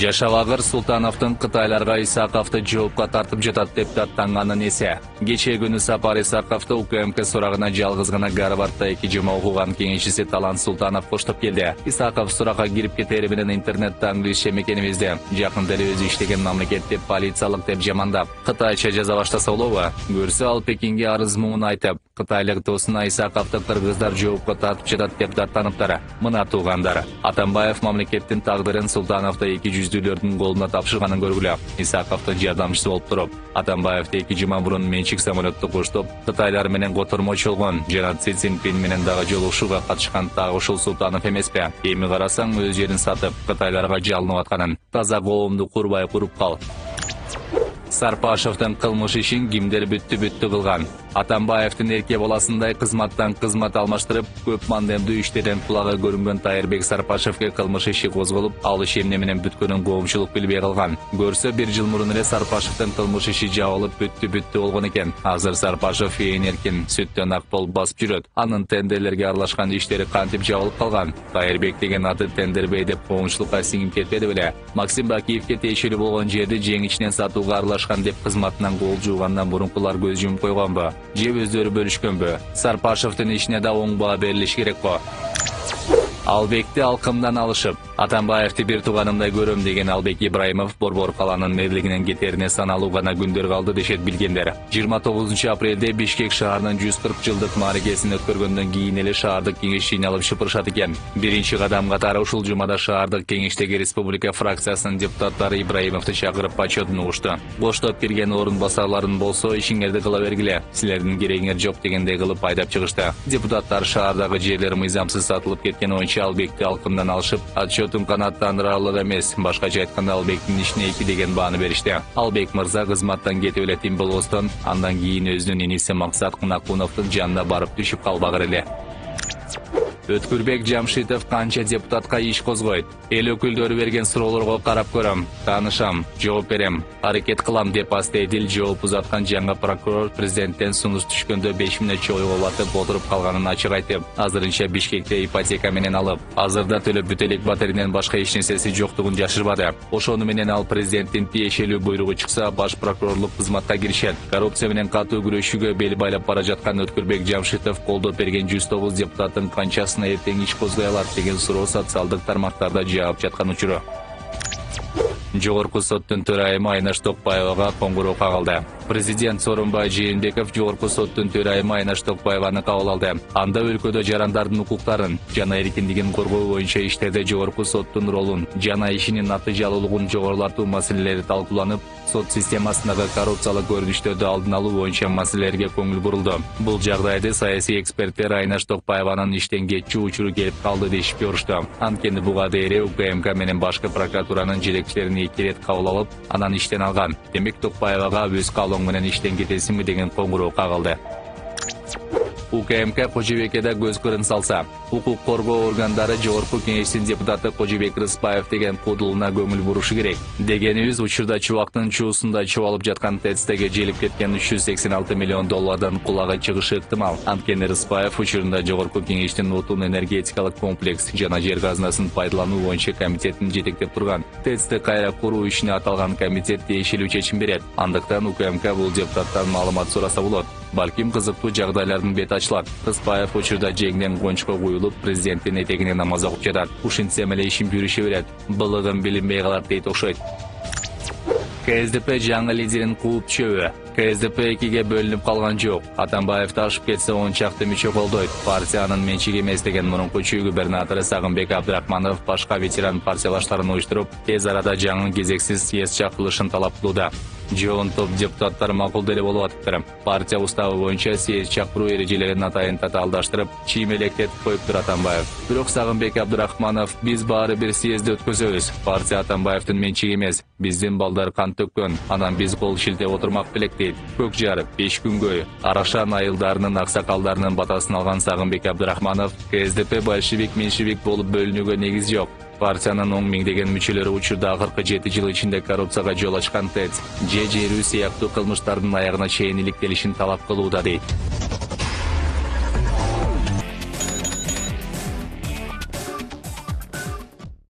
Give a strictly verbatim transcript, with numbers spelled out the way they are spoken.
Жашабагыр Султановдун Кытайларга Исаковду жоопко тартып жатат деп даттанганын эсе. Кечээ күнү Сапар Исаковду УКМК сурагына жалгыз гана Гарвардда эки жума окуган кеңешчиси Талант Султанов коштоп келди. Исаков суракка кирип кетери менен интернетте англисче мекенибизде жакында эле өзү иштеген мамлекетти полициялык деп жамандап, кытайча жаза баштаса болобу? Көрсө ал Пекинге арыз муун айтып, кытайлык досуна Исаковду кыргыздар жоопко тартып жатат деп даттаныптыр. Мына туугандар, Атамбаев мамлекеттин тагдырын Султановду эки жүздүүлөрдүн колуна тапшырганын көргүлө. Исаковдун жардамчысы болуп туруп, Атамбаевди эки жума мурун менчик самолетту коштоп, Кытайлар менен котормочу болгон жана Си Цзиньпин менен дагы жолугушууга катышкан дагы ушул Султанов эмеспи? Эми карасаң өз жерин сатып, Кытайларга жалынып атканын. Таза коомду курбай куруп кал. Сарпашевдин кылмыш ишин кимдер бүттү-бүттү кылган? Атамбаевдин эрке баласындай кызматтан кызмат алмаштырып, көп мандемдүү иштерден кулагы көрүнгөн Тайырбек Сарпашевге кылмыш иши козголуп, ал иш эмне менен бүткөнүн коомчулук билбей калган. Көрсө бир жыл мурун эле Сарпашевдин кылмыш иши жабылып бүттү-бүттү болгон экен. Азыр Сарпашев ээн эркин сүттөн ак болуп басып жүрөт. Анын тендерлерге аралашкан иштери кантип жабылып калган? Тайырбек деген аты тендербей деп коомчулукка сиңип кетпеди беле? Максим Бакиевге тиешелүү болгон жерди жеңичинен сатууга аралашкан деп кызматынан кол жуугандан мурункулар көз жумуп койгонбу? Же өздөрү бөлүшкөнбү? Сарпашевдин ишине да оң баа берилиш керекпи? Албекти алкымдан алышып, Атамбаевди бир тууганымдай көрөм деген Албек Ибраимов Борбор каланын мэрлигинен кетерине саналуу гана күндөр калды дешет билгендер. жыйырма тогузунчу апрелде Бишкек шаарынын жүз кырк жылдык мааракесин өткөргөндөн кийин эле шаардык кеңеш жыйналып шыпырышат экен. Биринчи кадам катары ушул жумада шаардык кеңештеги Республика фракциясынын депутаттары Ибраимовду чакырып почетун угушту. Боштоп кирген орун басарларын болсо ишиңерди кыла бергиле, силердин керегиңер жок дегендей кылып айдап чыгышты. Депутаттар шаардагы жерлер мыйзамсыз сатылып кеткен оюнча Албекти алкымдан алышып, отчетун канааттандырарлык эмес, башкача айтканда Албектин ишине эки деген бааны беришти. Албек мырза кызматтан кетип эле тим болбостон, андан кийин өзүнүн иниси Максат Кунакуновдун жанына барып түшүп калбагыр эле. Өткүрбек Жамшитов канча депутатка иш козгойт? Эл өкүлдөрү берген суроолорго карап көрөм, таанышам, жооп берем, аракет кылам деп астедил жооп узаткан жаңы прокурор президенттен сунуш түшкөндө беш мүнөтчө ойго батып отуруп калганын ачык айтып, азырынча Бишкекте ипотека менен алып, азырда төлөп бүт элек батиринен башка эч нерсеси жоктугун жашырбады. Ошону менен ал президенттин тиешелүү буйругу чыкса, баш прокурорлук кызматка киришет. Коррупция менен катуу күрөшүүгө бел байлап бара жаткан Өткүрбек Жамшитов колдоп берген жүз тогуз депутаттын канчасы эртең иш козгой алат деген суроо социалдык тармактарда жаап жаткан учуру. Жогорку соттун төрайымы Айнаш Токпаевага коңгуроо кагылды. Президент Сооронбай Жээнбеков Жогорку соттун төрайымы Айнаш Токпаеваны кабыл алды. Анда өлкөдө жарандардын укуктарын жана эркиндигин коргоо боюнча иштерде Жогорку соттун ролун жана ишинин натыйжалуулугун жогорулатуу маселелери талкууланып, сот системасындагы коррупциялык көрүнүштөрдү алдын алуу боюнча маселелерге көңүл бурулду. Бул жагдайды саясий эксперттер Айнаш Токпаеванын иштен кетчү учуру келип калды дешип көрүштү. Анткени буга дейре УКМК менен башкы прокуратуранын жетекчилерин эки рет кабыл алып, анан иштен алган. Демек Токпаевага өз каалоо менен иштен кетесиңби деген коңгуроо кагылды. УКМК Кожобекеде көз кырын салса, укук коргоо органдары Жогорку кеңештин депутаты Кожобек Рыспаев деген кудулуна көңүл бурушу керек. Дегенибиз, учурда чубактын чуусунда чубалып жаткан ТЭЦтеге желип кеткен үч жүз сексен алты миллион доллардан кулагы чыгышы ыктымал. Анткени Рыспаев учурунда Жогорку кеңештин отун энергетикалык комплекс жана жер казынасын пайдалануу боюнча комитетин жетектеп турган. ТЭЦти кайра куруу ишине аталган комитет тиешелүү чечим берет. Андыктан УКМК бул депутаттан маалымат сураса болот. Балким кызыктуу жагдайлардын бети ачылат. Рыспаев учурда жеңден кончко куюлуп, президенттин этегине намаз окуп жатат. Ушинтсем эле ишин жүрүшө берет. Былыгын билинбей калат дейт окшойт. КСДП жаңы лидерин кууп түшөбү? КСДП экиге бөлүнүп калган жок. Атамбаев ташып кетсе он чакты мүчө колдойт. Партиянын менчиги эмес деген мурунку чүй губернатору Сагынбек Абдрахманов башка ветеран партиялаштарын уюштуруп, тез арада жаңы кезексиз съезд чакырылышын талап кылууда. Жоон топ депутаттар макул деле болуп атыптыр. Партия уставы боюнча съезд чакыруу эрежелерин атайын татаалдаштырып, чиймелектетип коюптур Атамбаев. Бирок Сагынбек Абдрахманов: биз баары бир съездди өткөзөбүз. Партия Атамбаевдин менчиги эмес. Биздин балдар кан төккөн. Анан биз кол шилтеп отурмак белек дейт. Көк жар, беш күнгөй, Арашан айылдарынын аксакалдарынын батасын алган Сагынбек Абдрахманов КСДП большевик меньшевик болуп бөлүнүүгө негиз жок. Партиянын он миңдеген мүчөлөрү учурда акыркы жети жыл ичинде коррупцияга жол ачкан ТЭЦ, же жерүү сыяктуу кылмыштардын аягына чейин иликтелишин талап кылууда дейт.